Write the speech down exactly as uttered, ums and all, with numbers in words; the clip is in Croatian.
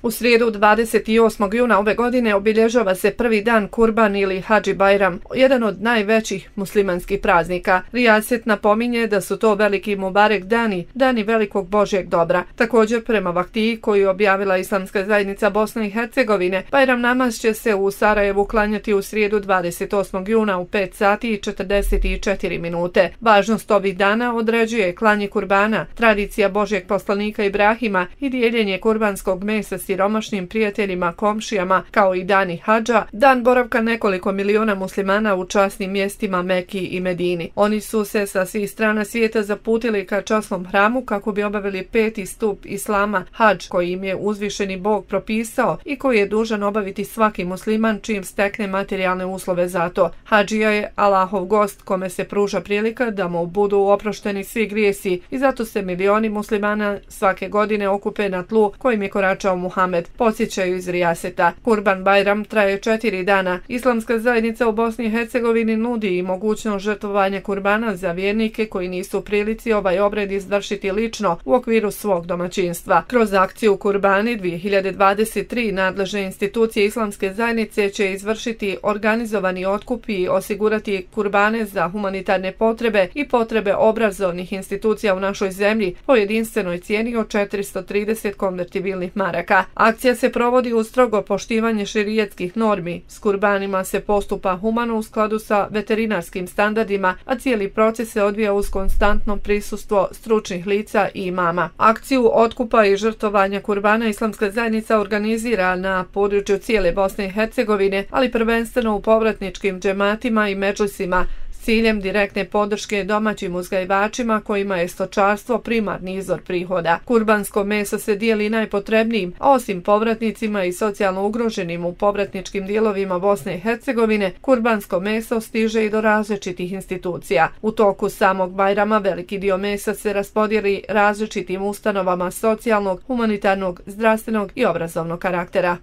U srijedu dvadeset osmog juna ove godine obilježava se prvi dan Kurban ili Hadži Bajram, jedan od najvećih muslimanskih praznika. Rijaset napominje da su to veliki Mubarek dani, dani velikog Božjeg dobra. Također, prema vaktiji koju je objavila Islamska zajednica Bosne i Hercegovine, Bajram namaz će se u Sarajevu klanjati u srijedu dvadeset osmog juna u pet sati i četrdeset četiri minute. Važnost ovih dana određuje klanje kurbana, tradicija Božjeg poslanika Ibrahima i dijeljenje kurbanskog mesa siromašnim prijateljima, komšijama, kao i dani hadža, dan boravka nekoliko miliona muslimana u časnim mjestima Meki i Medini. Oni su se sa svih strana svijeta zaputili ka časnom hramu kako bi obavili peti stup islama, hadž, koji im je uzvišeni Bog propisao i koji je dužan obaviti svaki musliman čim stekne materijalne uslove za to. Hadžija je Allahov gost kome se pruža prilika da mu budu oprošteni svi grijesi i zato se milioni muslimana svake godine okupe na tlu kojim je koračao Muhamed, podsjećaju iz Rijaseta. Kurban Bajram traje četiri dana. Islamska zajednica u Bosni i Hercegovini nudi i mogućnost žrtvovanja kurbana za vjernike koji nisu u prilici ovaj obred izvršiti lično u okviru svog domaćinstva. Kroz akciju Kurbani dvije hiljade dvadeset tri nadležne institucije Islamske zajednice će izvršiti organizovani otkup i osigurati kurbane za humanitarne potrebe i potrebe obrazovnih institucija u našoj zemlji po jedinstvenoj cijeni od četiristo trideset konvertibilnih maraka. Akcija se provodi uz strogo poštivanje šerijetskih normi. S kurbanima se postupa humano u skladu sa veterinarskim standardima, a cijeli proces se odvija uz konstantno prisustvo stručnih lica i imama. Akciju otkupa i žrtvovanja kurbana Islamska zajednica organizira na području cijele Bosne i Hercegovine, ali prvenstveno u povratničkim džematima i medžlisima, s ciljem direktne podrške domaćim uzgajivačima kojima je stočarstvo primarni izvor prihoda. Kurbansko meso se dijeli najpotrebnijim, a osim povratnicima i socijalno ugroženim u povratničkim dijelovima Bosne i Hercegovine, kurbansko meso stiže i do različitih institucija. U toku samog Bajrama veliki dio mesa se raspodijeli različitim ustanovama socijalnog, humanitarnog, zdravstvenog i obrazovnog karaktera.